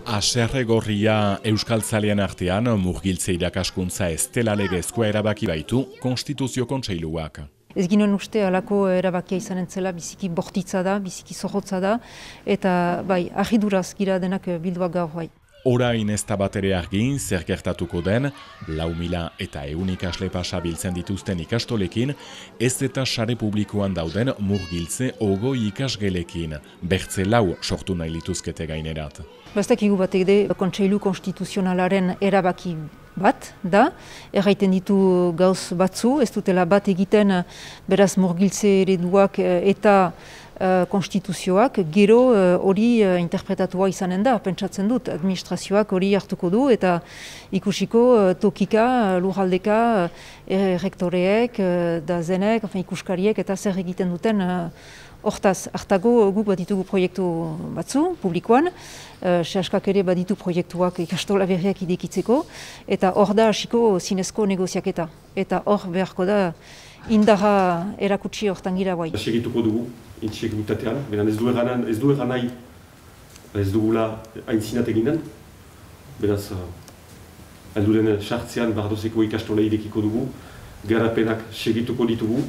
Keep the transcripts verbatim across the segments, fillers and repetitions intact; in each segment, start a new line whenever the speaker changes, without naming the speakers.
Haserregorria euskaltzalean artean murgiltze irakaskuntza ez dela legezkoa erabaki baitu Konstituzio Kontseiluak.
Ez ginen uste alako erabakia izanen zela, biziki bortitza da, biziki zorrotza da, eta bai, argiduraz gira denak bilduak gaur bai.
Orain ez da bat ere argin, zer gertatuko den, lau mila eta ehun ikasle pasa biltzen dituzten ikastolekin, ez eta sare publikoan dauden murgiltze ogoi ikasgelekin, bertze lau sortu nahi lituzkete gainerat.
Bastak igu batek de, Kontseilu Konstituzionalaren erabaki bat da, erraiten ditu gauz batzu, ez dutela bat egiten beraz murgiltze ereduak eta uh, konstituzioak, gero hori uh, uh, interpretatua izanen da, pentsatzen dut, administrazioak hori hartuko du eta ikusiko uh, tokika, uh, lurraldeka, uh, rektoreek, uh, da zenek, enfin, ikuskariek eta zer egiten duten uh, hortaz, hartago guk baditugu proiektu batzu, publikoan, uh, sehaskak ere baditu proiektuak ikastola berriak idekitzeko, eta hor da hasiko zinezko negoziaketa. Eta hor beharko da indarra erakutsi hortan gira guai.
Segituko dugu, intxegutatean, beran ez du eganan, ez du egan nahi, ez dugula aintzinat eginen, beraz, helduren sartzean bardozeko ikastola irekiko dugu, garapenak segituko ditugu.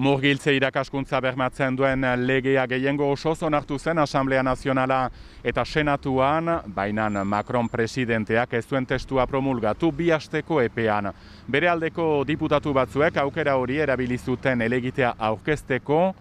Murgiltze irakaskuntza bermatzen duen legea gehiengo osoz onartu zen Asamblea Nazionala eta Senatuan, baina Macron presidenteak ez duen testua promulgatu bi asteko epean. Bere aldeko diputatu batzuek aukera hori erabili zuten helegitea aurkezteko,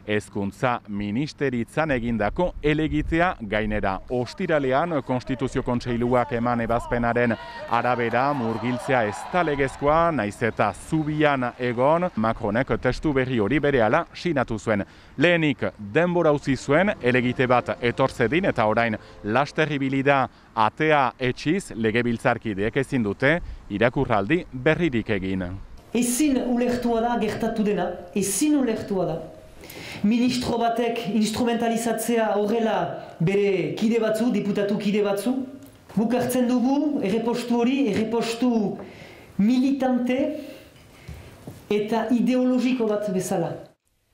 Hezkuntza Ministeritzan egindako helegitea gainera. Ostiralean Konstituzio Kontseiluak eman ebazpenaren arabera murgiltzea ez da legezkoa, naiz eta zubian egon, Macronek testu berri hori berehala sinatu zuen. Lehenik denbora utzi zuen helegite bat etorzedin eta orain laster ibili da atea etxiz legebiltzarkideek ezin dute irakurraldi berririk egin.
Ezin ulertua da gertatu dena, ezin ulertua da. Ministro batek instrumentalizatzea horrela bere kide batzu, diputatu kide batzu. Guk hartzen dugu errepostu hori, errepostu militante eta ideologiko bat bezala.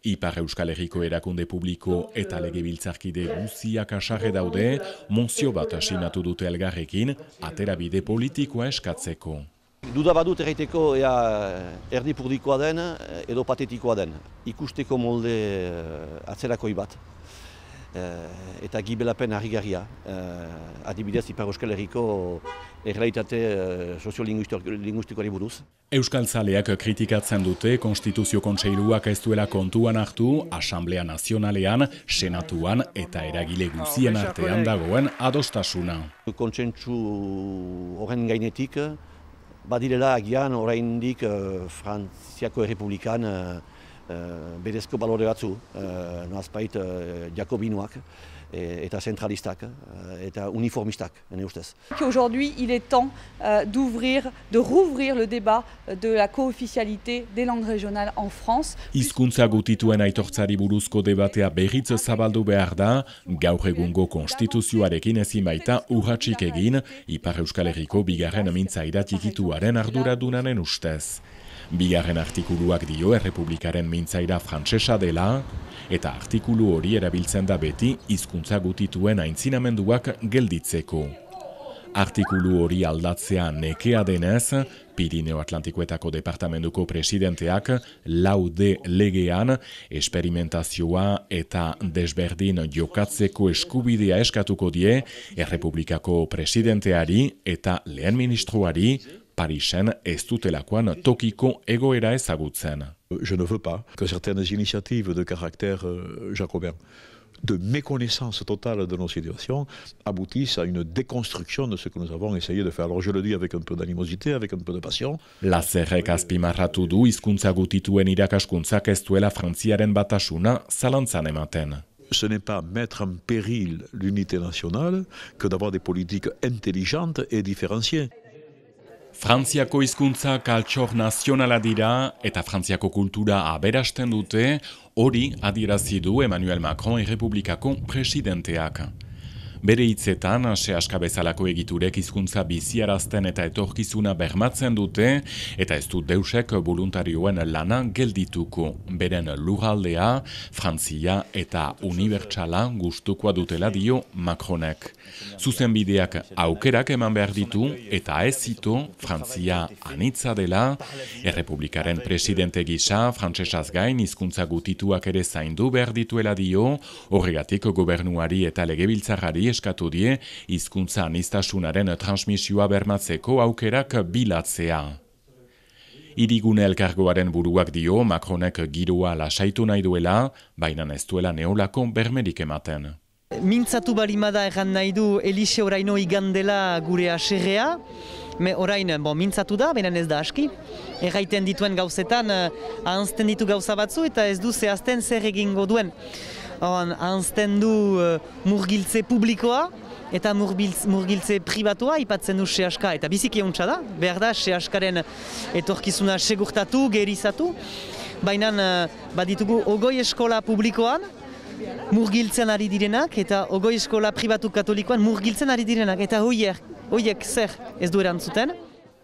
Ipar Euskal Herriko erakunde publiko eta legebiltzarkide guziak asarre daude, mozio bat asinatu dute elgarrekin, aterabide politikoa eskatzeko.
Duda badut erraiteko ea erdipurdikoa den edo patetikoa den. Ikusteko molde atzerakoi bat. Eta gibelapen harrigarria. Adibidez Ipar Euskal Herriko errealitate soziolinguistikoari buruz.
Euskaltzaleak kritikatzen dute Konstituzio Kontseiluak ez duela kontuan hartu Asamblea Nazionalean, Senatuan eta eragile guzien artean dagoen adostasuna.
Kontsentsu horren gainetik, badirela agian oraindik uh, Frantziako Errepublikan uh, uh, berezko balore batzu, uh, noazpait uh, jakobinoak et, eta zentralistak uh, eta uniformistak, ene ustez.
Aujourd'hui, il est temps euh, d'ouvrir, de rouvrir le débat de la co-officialité des langues régionales en France.
Hizkuntza gutituen aitortzari buruzko debatea berriz zabaldu behar da, gaur egungo konstituzioarekin ezin baita urratsik egin, Ipar Euskal Herriko bigarren mintzaira txikituaren arduradunaren ustez. Bigarren artikuluak dio Errepublikaren mintzaira frantsesa dela, eta artikulu hori erabiltzen da beti hizkuntza gutituen aintzinamenduak gelditzeko. Artikulu hori aldatzea nekea denez, Pirineo Atlantikoetako departamentuko presidenteak laude legean esperimentazioa eta desberdin jokatzeko eskubidea eskatuko die Errepublikako presidenteari eta lehen ministroari Parisen ez dutelakoan tokiko egoera ezagutzen.
Je ne veux pas que certaines initiatives de caractère euh, jacobin, de méconnaissance totale de nos situations, aboutissent à une déconstruction de ce que nous avons essayé de faire. Alors je le dis avec un peu d'animosité, avec un peu de passion.
Lazerrek azpimarratu du hizkuntza gutituen irakaskuntzak ez duela Frantziaren batasuna zalantzan ematen.
Ce n'est pas mettre en péril l'unité nationale que d'avoir des politiques intelligentes et différenciées.
Frantziako hizkuntza altxor nazionala dira eta Frantziako kultura aberasten dute, hori adierazi du Emmanuel Macron Errepublikako presidenteak. Bere hitzetan, sehaska bezalako egiturek hizkuntza biziarazten eta etorkizuna bermatzen dute, eta ez du deusek voluntarioen lana geldituko. Beren lurraldea, Frantzia eta unibertsala gustukoa dutela dio Macronek. Zuzenbideak aukerak eman behar ditu eta ez zitu Frantzia anitza dela, Errepublikaren presidente gisa frantsesaz gain hizkuntza gutituak ere zaindu behar dituela dio, horregatik gobernuari eta legebiltzarrari eskatu die hizkuntza aniztasunaren transmisioa bermatzeko aukerak bilatzea. Hirigune elkargoaren buruak dio Macronek giroa lasaitu nahi duela, baina ez duela neolako bermerik ematen.
Mintzatu balimada erran nahi du Elixe oraino igandela gure aserrea, me orain bon, mintzatu da, benen ez da aski. Erraiten dituen gauzetan, ahanzten ditu gauza batzu eta ez du zehazten zer egingo duen. Ahanzten du uh, murgiltze publikoa eta murgiltze pribatua ipatzen du sehaska. Eta biziki euntza da, behar da sehaskaren etorkizuna segurtatu, gerizatu. Baina uh, baditugu ogoi eskola publikoan, murgiltzen ari direnak eta ogoi eskola pribatu katolikoan murgiltzen ari direnak eta hoiek, hoiek zer ez du erantzuten.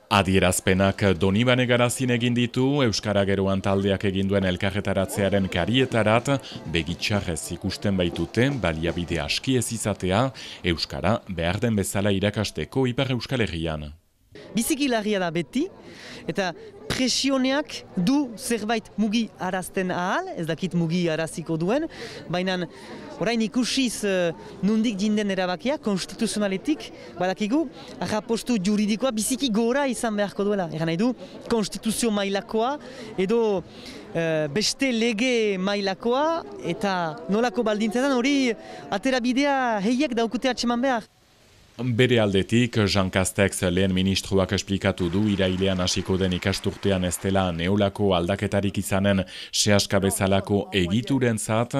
Adierazpenak Donibane Garazin egin ditu, Euskara Geroan taldeak egin duen elkarretaratzearen karietarat, begitxarrez ikusten baitute, baliabide aski ez izatea, Euskara behar den bezala irakasteko Ipar Euskal Herrian.
Biziki larria da beti, eta presioneak du zerbait mugi arazten ahal, ez dakit mugi araziko duen, baina orain ikusiz uh, nundik jinden erabakia, konstituzionaletik, badakigu, arrapostu juridikoa biziki gora izan beharko duela. Egan nahi du, konstituzio mailakoa, edo uh, beste lege mailakoa, eta nolako baldintzetan hori aterabidea heiek daukute atseman behar.
Bere aldetik, Jean Castex lehen ministroak esplikatu du irailean hasiko den ikasturtean ez dela neolako aldaketarik izanen sehaska bezalako egiturentzat.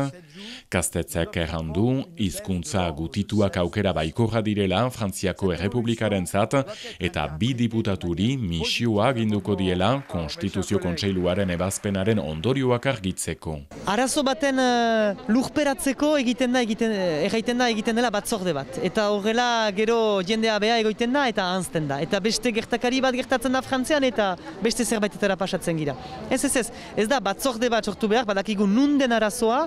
Castexek errandu, hizkuntza gutituak aukera baikorra direla Frantziako Errepublikarentzat eta bi diputaturi misioa aginduko diela Konstituzio Kontseiluaren ebazpenaren ondorioak argitzeko.
Arazo baten uh, lurperatzeko egiten da, egiten, erraiten da egiten dela batzorde bat. Eta horrela gero jendea beha egoiten da eta ahanzten da. Eta beste gertakari bat gertatzen da Frantzian eta beste zerbaitetara pasatzen gira. Ez ez ez, ez da batzorde bat sortu behar, badakigu nunden arazoa,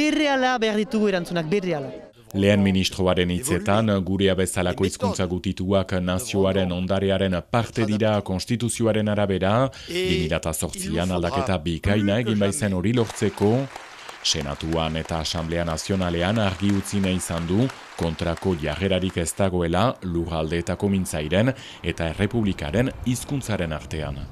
berreala behar ditugu erantzunak, berreala.
Lehen ministroaren hitzetan, gurea bezalako hizkuntza gutituak nazioaren ondarearen parte dira konstituzioaren arabera, bi mila zortzian aldaketa bikaina egin baizen hori lortzeko, Senatuan eta Asamblea Nazionalean argi utzi nahi izan du kontrako jarrerarik ez dagoela lurraldeetako mintzairen eta errepublikaren hizkuntzaren artean.